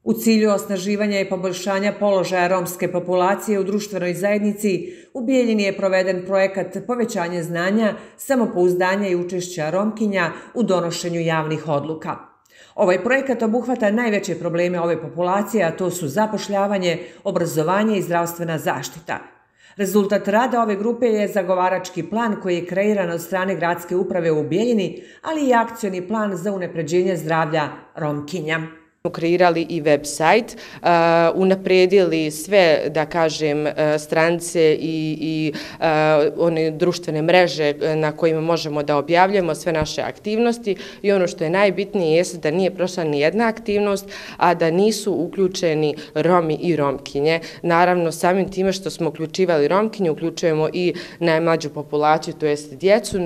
U cilju osnaživanja i poboljšanja položaja romske populacije u društvenoj zajednici, u Bijeljini je proveden projekat povećanja znanja, samopouzdanja i učešća Romkinja u donošenju javnih odluka. Ovaj projekat obuhvata najveće probleme ove populacije, a to su zapošljavanje, obrazovanje i zdravstvena zaštita. Rezultat rada ove grupe je zagovarački plan koji je kreiran od strane gradske uprave u Bijeljini, ali i akcioni plan za unapređenje zdravlja Romkinja. Kreirali i web sajt, unaprijedili sve, da kažem, stranice i one društvene mreže na kojima možemo da objavljamo sve naše aktivnosti i ono što je najbitnije jeste da nije prošla ni jedna aktivnost, a da nisu uključeni Romi i Romkinje. Naravno, samim time što smo uključivali Romkinje, uključujemo i najmlađu populaciju, to jest djecu,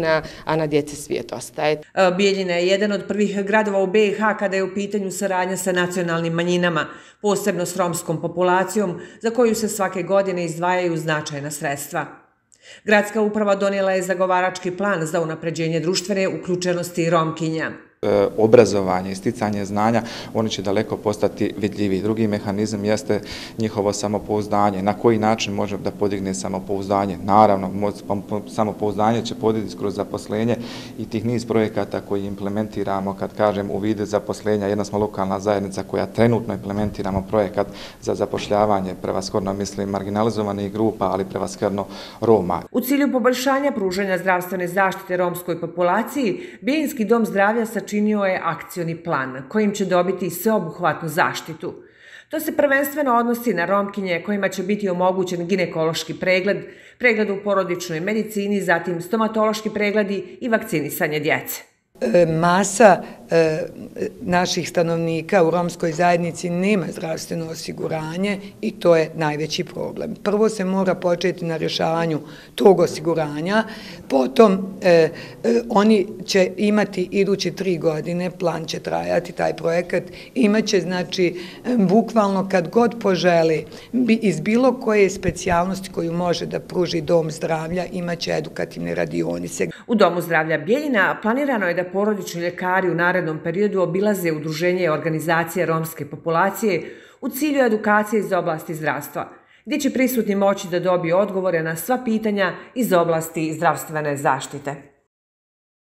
a na djece svijet ostaje. Bijeljina je jedan od prvih gradova u BiH kada je u pitanju saradnja sa nacionalnim manjinama, posebno s romskom populacijom, za koju se svake godine izdvajaju značajna sredstva. Gradska uprava donijela je zagovarački plan za unapređenje društvene uključenosti Romkinja. Obrazovanje i sticanje znanja, oni će daleko postati vidljivi. Drugi mehanizam jeste njihovo samopouzdanje. Na koji način može da podigne samopouzdanje? Naravno, samopouzdanje će podignuti kroz zaposlenje i tih niz projekata koji implementiramo, kad kažem u vidu zaposlenja. Jedna smo lokalna zajednica koja trenutno implementiramo projekat za zapošljavanje, prevashodno mislim marginalizovanih grupa, ali prevashodno Roma. U cilju poboljšanja pružanja zdravstvene zaštite romskoj populaciji, Bijeljinski dom zdravlja sačinio je akcioni plan kojim će dobiti sveobuhvatnu zaštitu. To se prvenstveno odnosi na Romkinje kojima će biti omogućen ginekološki pregled u porodičnoj medicini, zatim stomatološki pregledi i vakcinisanje djece. Masa naših stanovnika u romskoj zajednici nema zdravstveno osiguranje i to je najveći problem. Prvo se mora početi na rješavanju tog osiguranja, potom oni će imati iduće 3 godine, plan će trajati taj projekat, imaće znači bukvalno kad god poželi iz bilo koje specijalnosti koju može da pruži dom zdravlja, imaće edukativne radionice. U Domu zdravlja Bijeljina planirano je da porodični ljekari u narednom periodu obilaze udruženje i organizacije romske populacije u cilju edukacije iz oblasti zdravstva, gdje će prisutni moći da dobiju odgovore na sva pitanja iz oblasti zdravstvene zaštite.